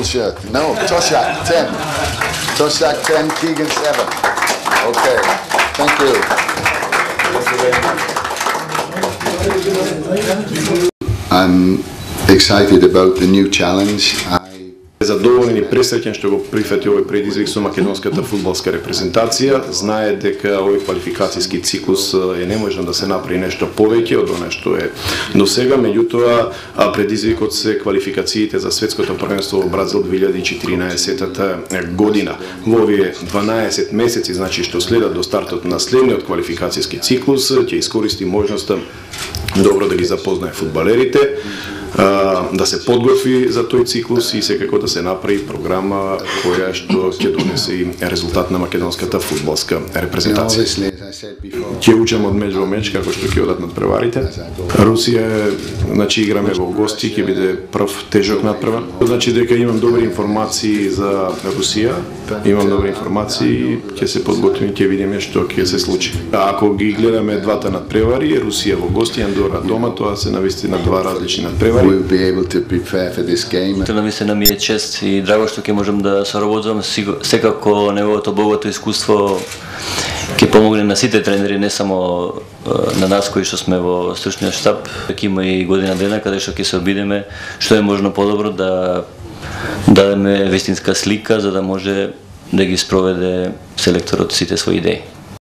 full shirt. No, Toshak 10. Toshak 10, Keegan 7. Okay, thank you. I'm excited about the new challenge. Задоволен и пресреќен што го прифати овој предизвик со македонската фудбалска репрезентација. Знае дека овој квалификацијски циклус е неможно да се направи нешто повеќе од она што е до сега, меѓутоа предизвикот се квалификациите за светското првенство во Бразил 2014 година. Во овие 12 месеци, значи што следат до стартот на следниот квалификацијски циклус, ќе искористи можноста добро да ги запознае фудбалерите, да се подготви за тој циклус и секако да се направи програма која што ќе донесе и резултат на македонската фудбалска репрезентација. Ќе учам од меч во меч како што ќе одат надпреварите. Русија, значи играме во гости, ќе биде прв тежок надпревар. Значи дека имам добри информации за Русија, имам добри информации, ќе се подготвим, ќе видиме што ќе се случи. Ако ги гледаме двата надпревари, Русија во гости, Андора дома, тоа се навистина два различни надпревари. We'll be able to prepare for this game. Навистина ми е чест и драго што ќе можам да соработувам. Секако неговото богато искуство ќе помогне на сите тренери, не само на нас кои што сме во стручниот штаб. Ќе има и година дена каде што ќе се обидеме што е можно подобро да дадеме вистинска слика за да може да ги спроведе селекторот сите своји идеи.